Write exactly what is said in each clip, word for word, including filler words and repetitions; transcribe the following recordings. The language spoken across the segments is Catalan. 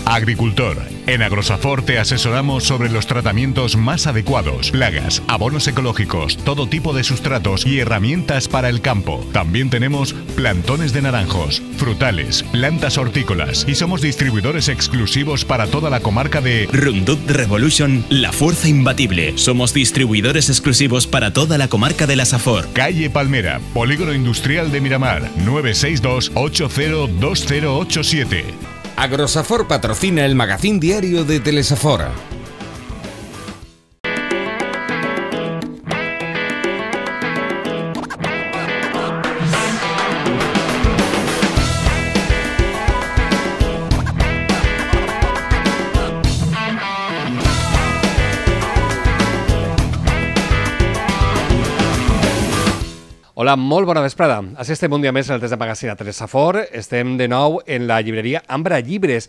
Agricultor. En Agrosafor te asesoramos sobre los tratamientos más adecuados, plagas, abonos ecológicos, todo tipo de sustratos y herramientas para el campo. También tenemos plantones de naranjos, frutales, plantas hortícolas y somos distribuidores exclusivos para toda la comarca de Roundup Revolution, la fuerza imbatible. Somos distribuidores exclusivos para toda la comarca de la Safor. Calle Palmera, Polígono Industrial de Miramar, nueve seis dos, ocho cero dos cero ocho siete. Agrosafor patrocina el magazín diario de Telesafor. Hola, molt bona vesprada. Així estem un dia més en el test de magazín a Telesafor. Estem de nou en la llibreria Ambra Llibres.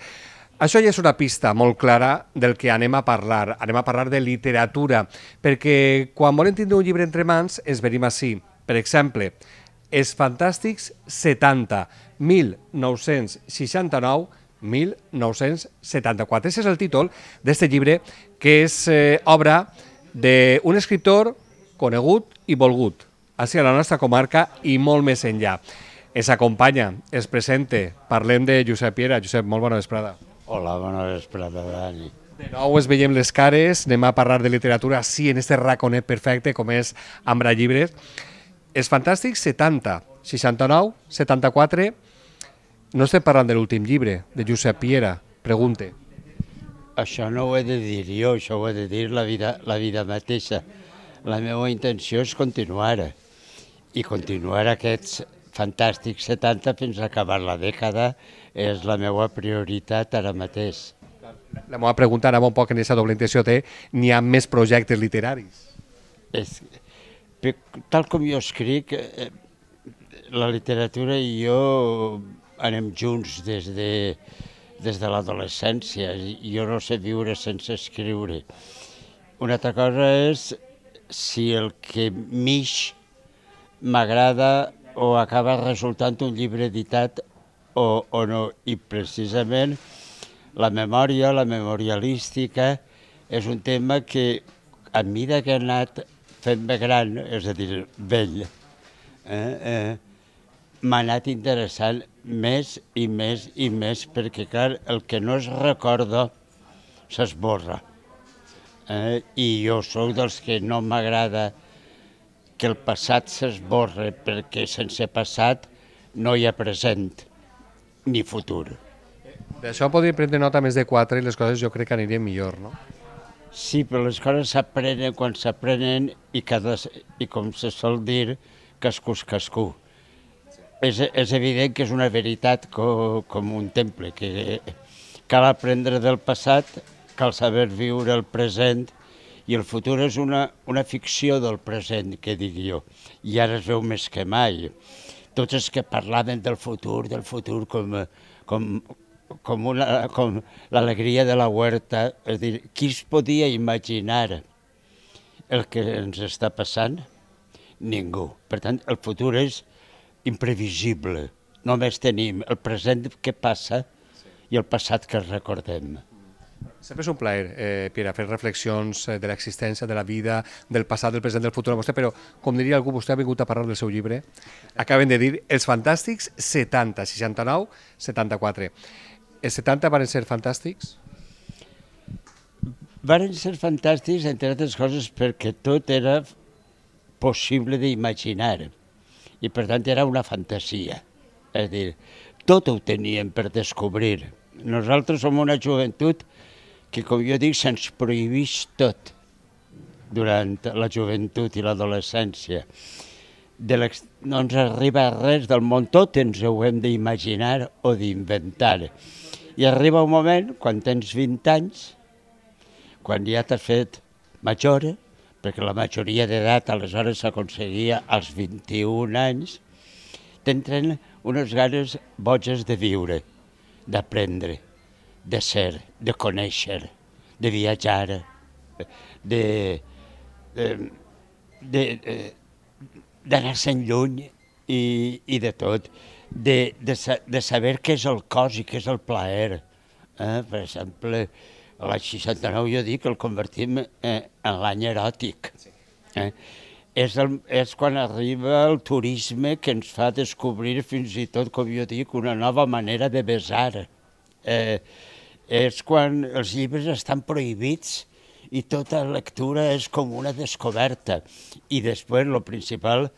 Això ja és una pista molt clara del que anem a parlar. Anem a parlar de literatura, perquè quan volem tindre un llibre entre mans ens venim així. Per exemple, Els Fantàstics setanta, mil nou-cents seixanta-nou a mil nou-cents setanta-quatre. Aquest és el títol d'aquest llibre, que és eh, obra d'un escriptor conegut i volgut així a la nostra comarca i molt més enllà. Ens acompanya, es presenta, parlem de Josep Piera. Josep, molt bona vesprada. Hola, bona vesprada, Dani. De nou es veiem les cares, anem a parlar de literatura, sí, en este raconet perfecte com és Ambra Llibres. Els Fantàstics setanta, seixanta-nou, setanta-quatre, no estem parlant de l'últim llibre, de Josep Piera, pregunte. Això no ho he de dir jo, això ho he de dir la vida, la vida mateixa. La meva intenció és continuar, i continuar aquests Fantàstics setanta fins a acabar la dècada és la meva prioritat ara mateix. La meva pregunta anava un poc en aquesta doble intenció de n'hi ha més projectes literaris. És, tal com jo escric, la literatura i jo anem junts des de, des de l'adolescència. Jo no sé viure sense escriure. Una altra cosa és si el que m'ix m'agrada o acaba resultant un llibre editat o, o no. I precisament la memòria, la memorialística, és un tema que a mesura que he anat fent-me gran, és a dir, vell, eh, eh, m'ha anat interessant més i més i més, perquè, clar, el que no es recorda s'esborra. Eh, I jo sóc dels que no m'agrada que el passat s'esborre, perquè sense passat no hi ha present ni futur. D'això podria prendre nota més de quatre i les coses jo crec que anirien millor, no? Sí, però les coses s'aprenen quan s'aprenen i, cada, i com se sol dir, cascú és cascú. És, és evident que és una veritat co, com un temple, que cal aprendre del passat, cal saber viure el present, i el futur és una, una ficció del present, que dic jo, i ara es veu més que mai. Tots els que parlaven del futur, del futur com, com, com, una, com l'alegria de la huerta, és dir, qui es podia imaginar el que ens està passant? Ningú. Per tant, el futur és imprevisible. Només tenim el present que passa i el passat que recordem. Sempre és un plaer, eh, Piera, fer reflexions de l'existència, de la vida, del passat, del present, del futur a vostè, però, com diria algú, vostè ha vingut a parlar del seu llibre. Acaben de dir Els Fantàstics setanta, seixanta-nou, setanta-quatre. Els setanta van ser fantàstics? Van ser fantàstics, entre altres coses, perquè tot era possible d'imaginar, i per tant era una fantasia. És a dir, tot ho teníem per descobrir. Nosaltres som una joventut que, com jo dic, se'ns prohibeix tot durant la joventut i l'adolescència. No ens arriba res del món, tot ens ho hem d'imaginar o d'inventar. I arriba un moment, quan tens vint anys, quan ja t'has fet major, perquè la majoria d'edat aleshores s'aconseguia als vint-i-un anys, t'entren unes ganes boges de viure, d'aprendre, de ser, de conèixer, de viatjar, de, de, de, d'anar-se'n lluny i, i de tot, de, de, de saber què és el cos i què és el plaer. Eh? Per exemple, l'any seixanta-nou jo dic que el convertim eh, en l'any eròtic. Eh? És, el, és quan arriba el turisme que ens fa descobrir fins i tot, com jo dic, una nova manera de besar. Eh, és quan els llibres estan prohibits i tota lectura és com una descoberta. I després, el principal,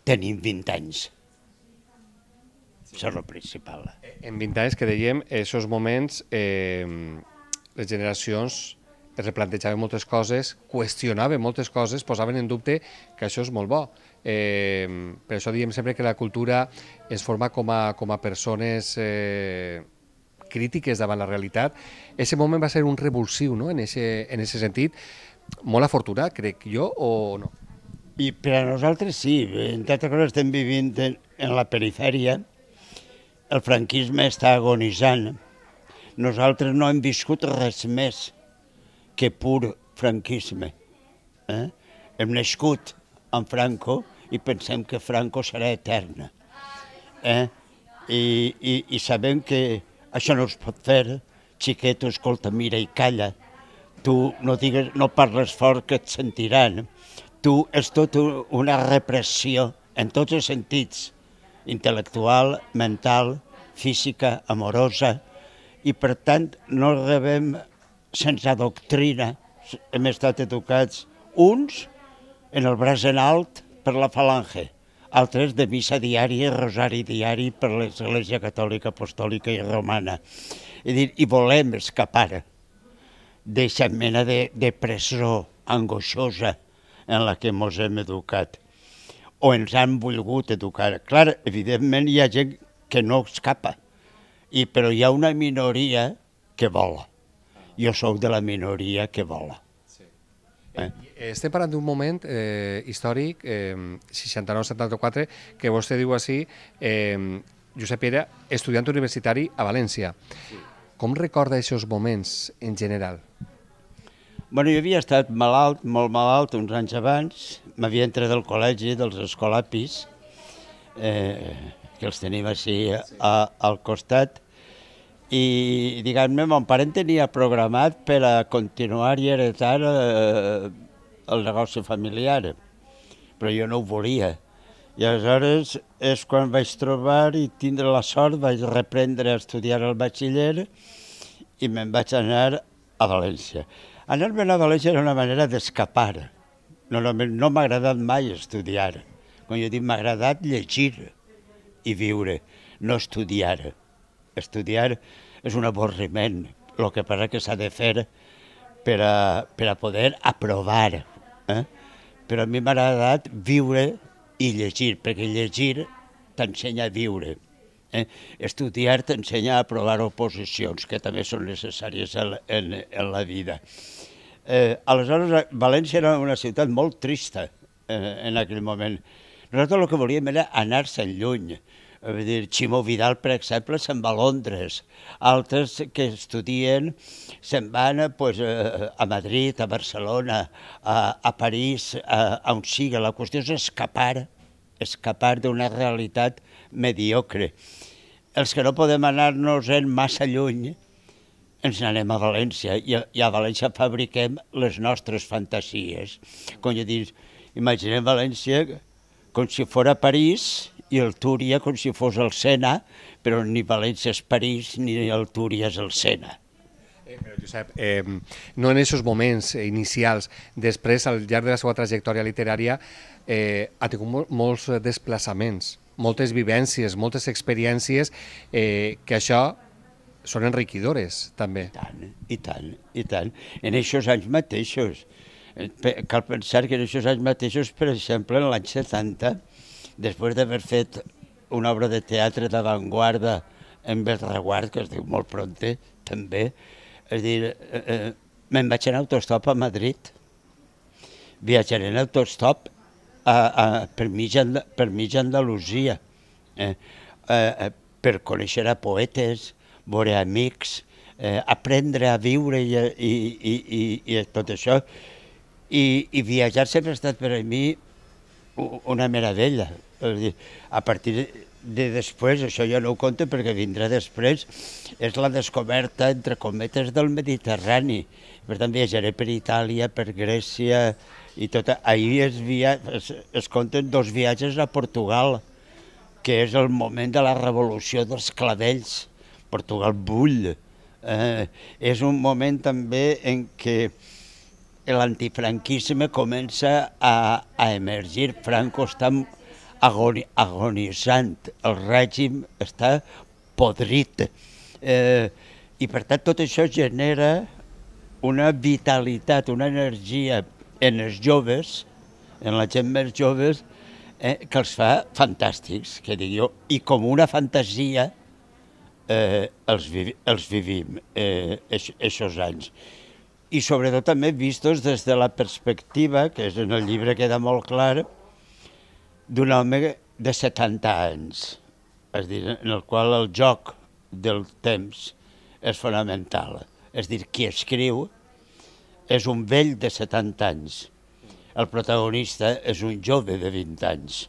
tenim vint anys. Això és el principal. En vint anys, que dèiem, en aquests moments, eh, les generacions es replantejaven moltes coses, qüestionaven moltes coses, posaven en dubte que això és molt bo. Eh, per això diem sempre que la cultura es forma com a, com a persones eh, crítiques davant la realitat. Aquest moment va ser un revulsiu, no?, en aquest sentit. Molt afortunat, crec jo, o no? I per a nosaltres sí, entre altres coses estem vivint en, en la perifèria, el franquisme està agonitzant. Nosaltres no hem viscut res més que pur franquisme. Eh? Hem nascut amb Franco i pensem que Franco serà eterna. Eh? I, i, I sabem que això no es pot fer. Xiqueto, escolta, mira i calla. Tu no, digues, no parles fort que et sentiran. Tu és tot una repressió en tots els sentits, intel·lectual, mental, física, amorosa, i per tant no rebem sense doctrina. Hem estat educats uns en el braç en alt per la falange, altres de missa diària i rosari diari per l'Església Catòlica, Apostòlica i Romana. És dir, i volem escapar d'aquesta mena de, de presó angoixosa en la que ens hem educat, o ens han volgut educar. Clar, evidentment hi ha gent que no escapa, i, però hi ha una minoria que vola. Jo sóc de la minoria que vola. Sí. Eh? Estem parlant d'un moment eh, històric, eh, seixanta-nou setanta-quatre, que vostè diu així, eh, Josep era estudiant universitari a València. Sí. Com recorda aquests moments en general? Bueno, jo havia estat malalt, molt malalt, uns anys abans. M'havia entrat al col·legi dels escolapis, eh, que els tenim així a, al costat, i, diguem-ne, mon pare tenia programat per a continuar i heretar eh, el negoci familiar, però jo no ho volia. I aleshores és quan vaig trobar i tindre la sort, vaig reprendre a estudiar el batxiller i me'n vaig anar a València. Anar-me'n a València era una manera d'escapar. No, no, no m'ha agradat mai estudiar. Com jo dic, m'ha agradat llegir i viure, no estudiar. Estudiar és un avorriment, el que passa que s'ha de fer per a, per a poder aprovar. Eh? Però a mi m'ha agradat viure i llegir, perquè llegir t'ensenya a viure. Eh? Estudiar t'ensenya a aprovar oposicions, que també són necessàries en, en, en la vida. Eh, aleshores, València era una ciutat molt trista eh, en aquell moment. Nosaltres el que volíem era anar-se'n lluny. Vull dir, Ximo Vidal, per exemple, se'n va a Londres. Altres que estudien se'n van pues, a Madrid, a Barcelona, a, a París, a, a on sigui. La qüestió és escapar, escapar d'una realitat mediocre. Els que no podem anar-nos-en massa lluny, ens n'anem a València, i a, i a València fabriquem les nostres fantasies. Com jo dic, imaginem València com si fos París i el Túria com si fos el Sena, però ni València és París ni el Túria és el Sena. Eh, però, Josep, eh, no en aquests moments inicials, després, al llarg de la seva trajectòria literària, eh, ha tingut mol molts desplaçaments, moltes vivències, moltes experiències, eh, que això són enriquidores, també. I tant, i tant, i tant. En aquests anys mateixos. Cal pensar que en aquests anys mateixos, per exemple, en l'any setanta, després d'haver fet una obra de teatre d'avantguarda en Belreguard, que es diu Molt Pronte, també, és dir, eh, eh, me'n vaig en autostop a Madrid. Viatjaré en autostop a, a, per mitja Andalusia, eh, eh, per conèixer a poetes, veure amics, eh, aprendre a viure i, i, i, i, i tot això. I, i viatjar sempre ha estat per a mi una meravella. A partir de després, això ja no ho conto perquè vindrà després, és la descoberta, entre cometes, del Mediterrani. Per tant, viatjaré per Itàlia, per Grècia i tot. Ahir es, via... es, es compten dos viatges a Portugal, que és el moment de la revolució dels clavells. Portugal bull. Eh, és un moment també en què l'antifranquisme comença a, a emergir. Franco està agoni, agonitzant, el règim està podrit. Eh, I per tant tot això genera una vitalitat, una energia en els joves, en la gent més joves, eh, que els fa fantàstics, que dic jo, i com una fantasia eh, els, vi els vivim eh, aquests anys. I sobretot també vistos des de la perspectiva, que és en el llibre queda molt clar, d'un home de setanta anys, és a dir, en el qual el joc del temps és fonamental. És a dir, qui escriu és un vell de setanta anys, el protagonista és un jove de vint anys.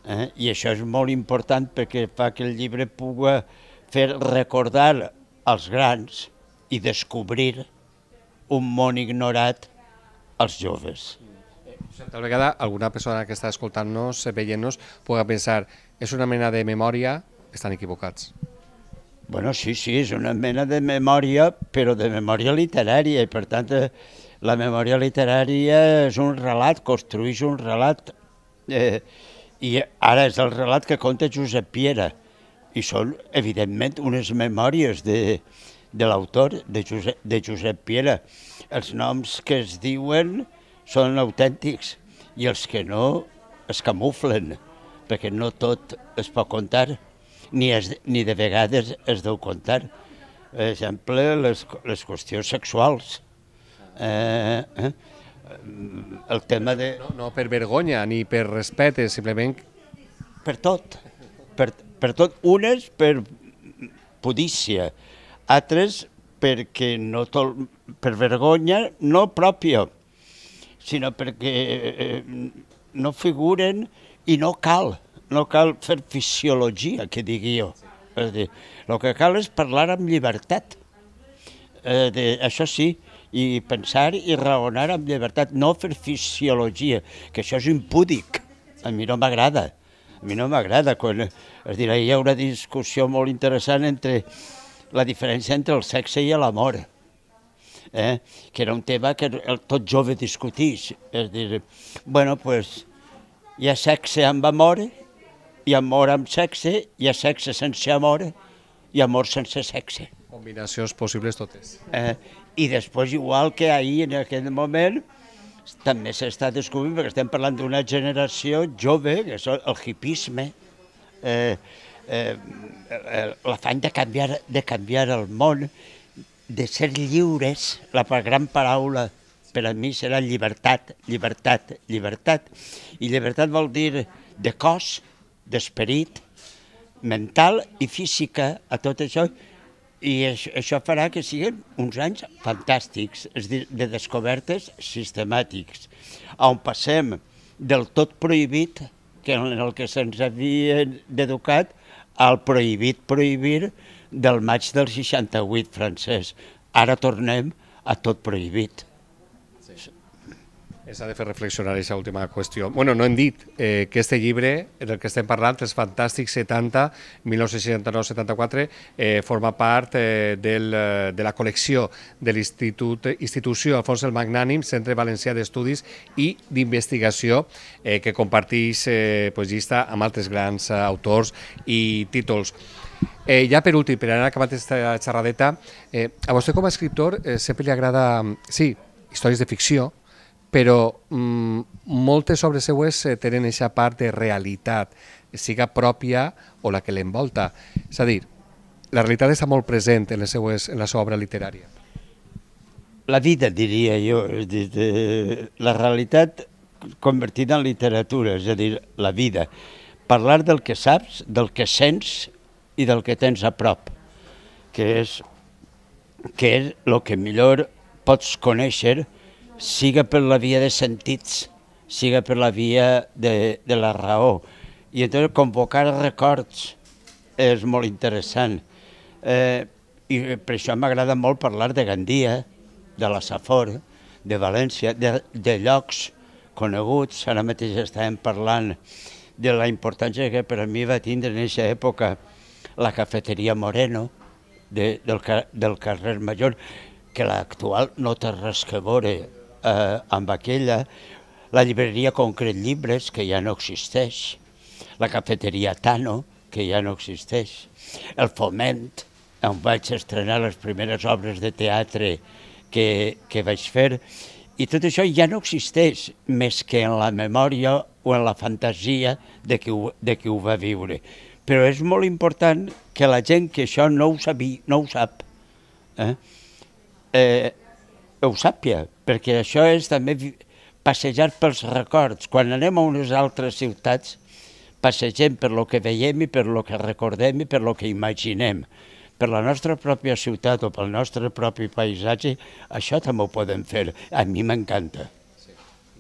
Eh? I això és molt important perquè fa que el llibre pugui fer recordar als grans i descobrir un món ignorat als joves. Tal vegada alguna persona que està escoltant-nos, veient-nos, pugui pensar és una mena de memòria, estan equivocats. Bueno, sí, sí, és una mena de memòria, però de memòria literària, i per tant la memòria literària és un relat, construeix un relat, eh, i ara és el relat que conta Josep Piera, i són, evidentment, unes memòries de, de l'autor, de, Josep, de Josep Piera. Els noms que es diuen són autèntics i els que no es camuflen, perquè no tot es pot contar, ni, es, ni de vegades es deu contar. Per exemple, les, les qüestions sexuals. Eh, eh, el tema de... No, no per vergonya ni per respecte, simplement... Per tot, per, per tot. Unes per pudícia, altres perquè no tol... per vergonya no pròpia, sinó perquè eh, no figuren i no cal, no cal fer fisiologia, que digui jo. És dir, el que cal és parlar amb llibertat, eh, de, això sí, i pensar i raonar amb llibertat, no fer fisiologia, que això és impúdic, a mi no m'agrada, a mi no m'agrada. Quan, és dir, hi ha una discussió molt interessant entre la diferència entre el sexe i l'amor. Eh? Que era un tema que el, tot jove discutís. És dir, bueno, pues, hi ha sexe amb amor, hi ha amor amb sexe, hi ha sexe sense amor i amor sense sexe. Combinacions possibles totes. Eh? I després, igual que ahir, en aquest moment, també s'està descobrint, perquè estem parlant d'una generació jove, que és el hipisme, eh, eh, l'afany de canviar, de canviar el món, de ser lliures. La gran paraula per a mi serà llibertat, llibertat, llibertat. I llibertat vol dir de cos, d'esperit, mental i física, a tot això. I això farà que siguin uns anys fantàstics, és a dir, de descobertes sistemàtics, on passem del tot prohibit, que en el que se'ns havia d'educat, al prohibit prohibir del maig del seixanta-vuit francès. Ara tornem a tot prohibit. S'ha de fer reflexionar aquesta última qüestió. Bueno, no hem dit eh, que este llibre, del que estem parlant, els Fantàstics setanta, mil nou-cents seixanta-nou setanta-quatre, eh, forma part eh, del, de la col·lecció de l'Institució Alfons el Magnànim, Centre Valencià d'Estudis i d'Investigació, eh, que comparteix eh, pues, llista amb altres grans eh, autors i títols. Eh, ja per últim, per anar acabant aquesta xerradeta, eh, a vostè com a escriptor eh, sempre li agrada, sí, històries de ficció, però mm, moltes obres seues eh, tenen aquesta part de realitat, siga pròpia o la que l'envolta. És a dir, la realitat està molt present en, les seues, en la seva obra literària. La vida, diria jo, és dir, de, la realitat convertida en literatura, és a dir, la vida. Parlar del que saps, del que sents i del que tens a prop, que és, que és el que millor pots conèixer, siga per la via de sentits, siga per la via de, de la raó. I entonces convocar records és molt interessant. Eh, I per això m'agrada molt parlar de Gandia, de la Safor, de València, de, de llocs coneguts. Ara mateix estàvem parlant de la importància que per a mi va tindre en aquesta època la cafeteria Moreno de, del, del carrer Major, que l'actual no té res que veure eh, amb aquella, la llibreria Concret Llibres, que ja no existeix, la cafeteria Tano, que ja no existeix, el Foment, on vaig estrenar les primeres obres de teatre que, que vaig fer, i tot això ja no existeix més que en la memòria o en la fantasia de qui ho, de qui ho va viure. Però és molt important que la gent que això no ho, sabi, no ho sap, eh? Eh, ho sàpia, perquè això és també passejar pels records. Quan anem a unes altres ciutats, passegem per lo que veiem i per lo que recordem i per lo que imaginem. Per la nostra pròpia ciutat o pel nostre propi paisatge, això també ho podem fer. A mi m'encanta.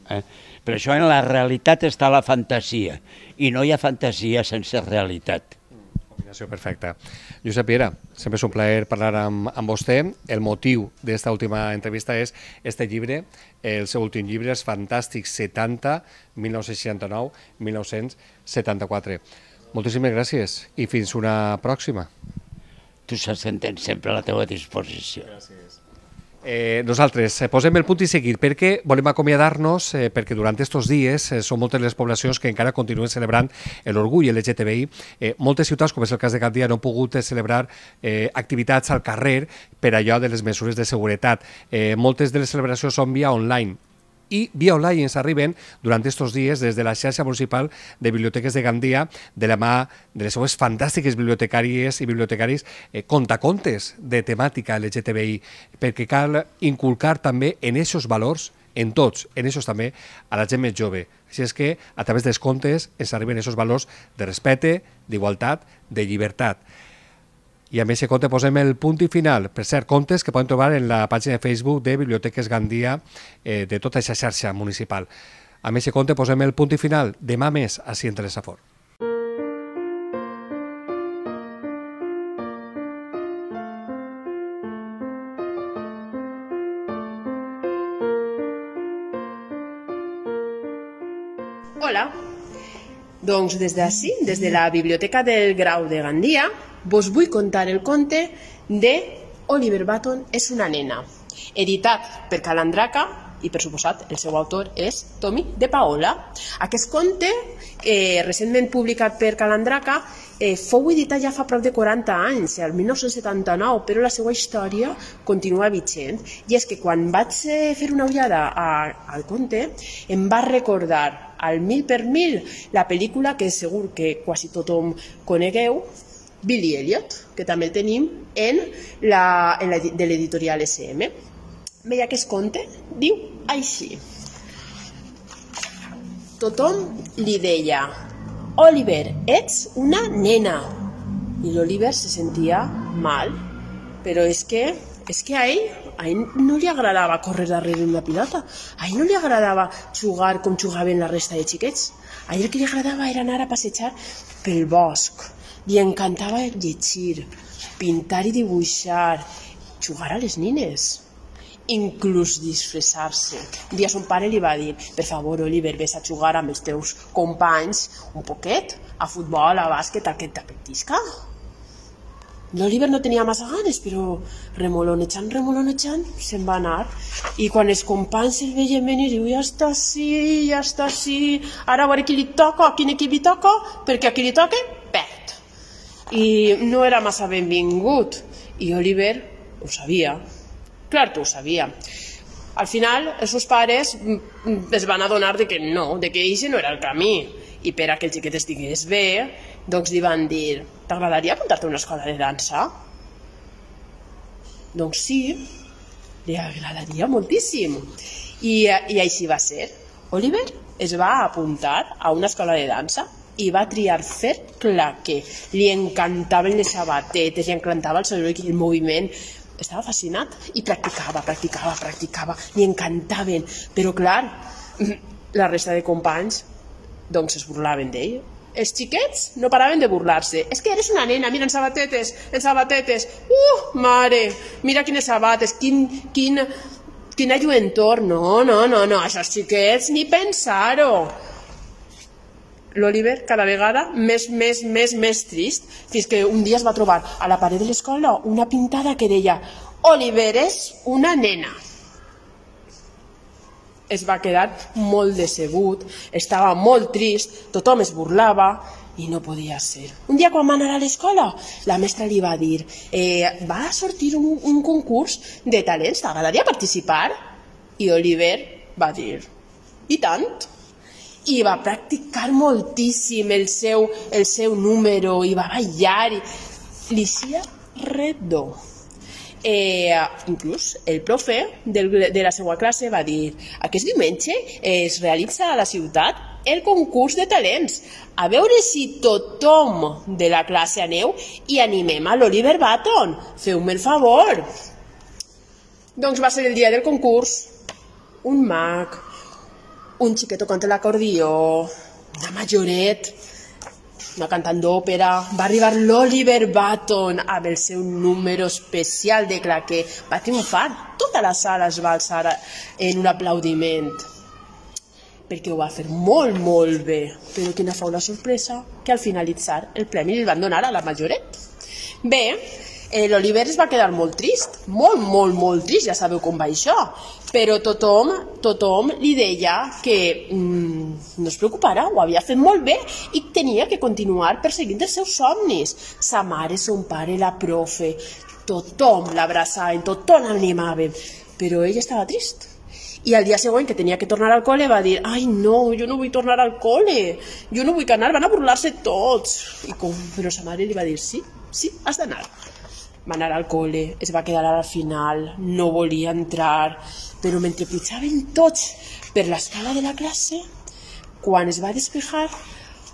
Eh? Per això en la realitat està la fantasia, i no hi ha fantasia sense realitat. Combinació perfecta. Josep Piera, sempre és un plaer parlar amb, amb vostè. El motiu d'esta última entrevista és este llibre, el seu últim llibre, Els Fantàstics setanta, mil nou-cents seixanta-nou a mil nou-cents setanta-quatre. Moltíssimes gràcies i fins una pròxima. Tu saps que en tens sempre a la teva disposició. Gràcies. Eh, nosaltres eh, posem el punt i seguir perquè volem acomiadar-nos eh, perquè durant aquests dies eh, són moltes les poblacions que encara continuen celebrant l'orgull L G T B I. Eh, moltes ciutats, com és el cas de Gandia, no han pogut eh, celebrar eh, activitats al carrer per allò de les mesures de seguretat. Eh, moltes de les celebracions són via online. I via online ens arriben durant aquests dies des de la xarxa municipal de biblioteques de Gandia, de la mà de les seues fantàstiques bibliotecàries i bibliotecaris eh, contacontes de temàtica L G T B I, perquè cal inculcar també en aquests valors, en tots, en aquests també, a la gent més jove. Així és que a través dels contes ens arriben aquests valors de respecte, d'igualtat, de llibertat. I amb aquest conte posem el punt i final. Per cert, contes que poden trobar en la pàgina de Facebook de Biblioteques Gandia, eh, de tota aquesta xarxa municipal. Amb aquest conte posem el punt i final. Demà més, així entre Safor. Hola. Doncs des d'ací, des de la Biblioteca del Grau de Gandia, vos vull contar el conte de Oliver Button és una nena, editat per Calandraca i, per suposat, el seu autor és Tommy de Paola. Aquest conte, eh, recentment publicat per Calandraca, eh, fou editat ja fa prop de quaranta anys, el mil nou-cents setanta-nou, però la seva història continua vigent. I és que quan vaig fer una ullada a, al conte, em va recordar al mil per mil la pel·lícula que segur que quasi tothom conegueu, Billy Elliot, que també el tenim en la, en la, de l'editorial S M. Veia que es conte diu així. Tothom li deia: Oliver, ets una nena. I l'Oliver se sentia mal, però és que, és que a ell, a ell no li agradava córrer darrere una pilota, a ell no li agradava jugar com jugaven la resta de xiquets, a ell el que li agradava era anar a passejar pel bosc. Li encantava llegir, pintar i dibuixar, jugar a les nines, inclús disfressar-se. Un dia son pare li va dir: per favor, Oliver, vés a jugar amb els teus companys un poquet, a futbol, a bàsquet, a que t'apetisca. L'Oliver no tenia massa ganes, però remolonejant, remolonejant, se'n va anar. I quan els companys el veien venir, diu: ja està així, ja està així, ara a veure qui li toca, a quin equip li toca, perquè a qui li toca, perd. I no era massa benvingut. I Oliver ho sabia. Clar que ho sabia. Al final, els seus pares es van adonar de que no, de que eixe no era el camí. I per a que el xiquet estigués bé, doncs li van dir: t'agradaria apuntar-te a una escola de dansa? Doncs sí, li agradaria moltíssim. I, i així va ser. Oliver es va apuntar a una escola de dansa i va triar fer claqué. Li encantaven les sabatetes, li encantava el soroll i el moviment. Estava fascinat i practicava, practicava, practicava. Li encantaven. Però clar, la resta de companys doncs es burlaven d'ell. els xiquets no paraven de burlar-se. És que eres una nena, mira, en sabatetes, en sabatetes. Uh, mare, mira quines sabates, quin, quin, quina lluentor. No, no, no, no, això els xiquets ni pensar-ho. L'Oliver cada vegada més, més, més, més trist, fins que un dia es va trobar a la paret de l'escola una pintada que deia Oliver és una nena. Es va quedar molt decebut, estava molt trist, tothom es burlava i no podia ser. Un dia quan va anar a l'escola, la mestra li va dir eh, va sortir un, un concurs de talents, t'agradaria participar? I Oliver va dir i tant. I va practicar moltíssim el seu, el seu número i va ballar i li sia redó. Eh, inclús el profe del, de la seva classe va dir aquest diumenge es realitza a la ciutat el concurs de talents, a veure si tothom de la classe aneu i animem a l'Oliver Button, feu-me el favor. Doncs va ser el dia del concurs, un mag, un xiquet tocant l'acordió, una majoret, una cantant d'òpera, va arribar l'Oliver Button amb el seu número especial de claqué, va triomfar, tota la sala es va alçar en un aplaudiment, perquè ho va fer molt, molt bé, però quina fou la sorpresa, que al finalitzar el premi li van donar a la majoret. Bé, Eh, l'Oliver es va quedar molt trist, molt, molt, molt trist, ja sabeu com va això, però tothom, tothom li deia que mm, no es preocupara, ho havia fet molt bé i tenia que continuar perseguint els seus somnis. Sa mare, son pare, la profe, tothom l'abraçaven, tothom l'animaven, però ell estava trist. I al dia següent que tenia que tornar al col·le va dir ai no, jo no vull tornar al col·le, jo no vull anar, van a burlar-se tots. I com, però sa mare li va dir sí, sí, has d'anar. Va anar al col·le, es va quedar al final, no volia entrar, però mentre pujaven tots per l'escala de la classe, quan es va despejar,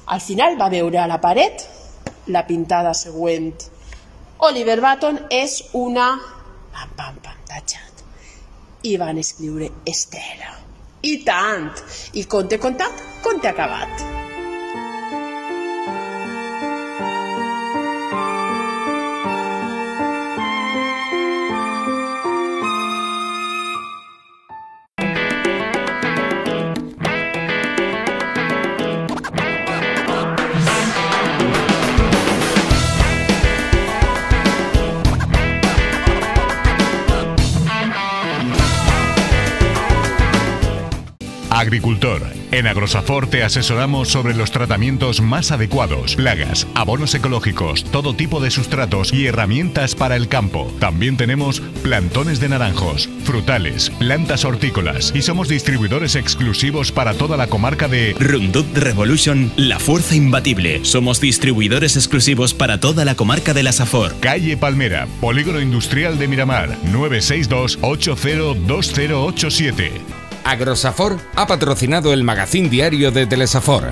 al final va veure a la paret la pintada següent. Oliver Button és una... pam, pam, pam, tachat. I van escriure Estela. I tant! I conte contat, conte acabat. Agricultor. En Agrosafor te asesoramos sobre los tratamientos más adecuados, plagas, abonos ecológicos, todo tipo de sustratos y herramientas para el campo. También tenemos plantones de naranjos, frutales, plantas hortícolas y somos distribuidores exclusivos para toda la comarca de Roundup Revolution, la fuerza imbatible. Somos distribuidores exclusivos para toda la comarca de la Safor. Calle Palmera, Polígono Industrial de Miramar, nueve seis dos, ocho cero dos cero ocho siete. Agrosafor ha patrocinado el magazín diario de Telesafor.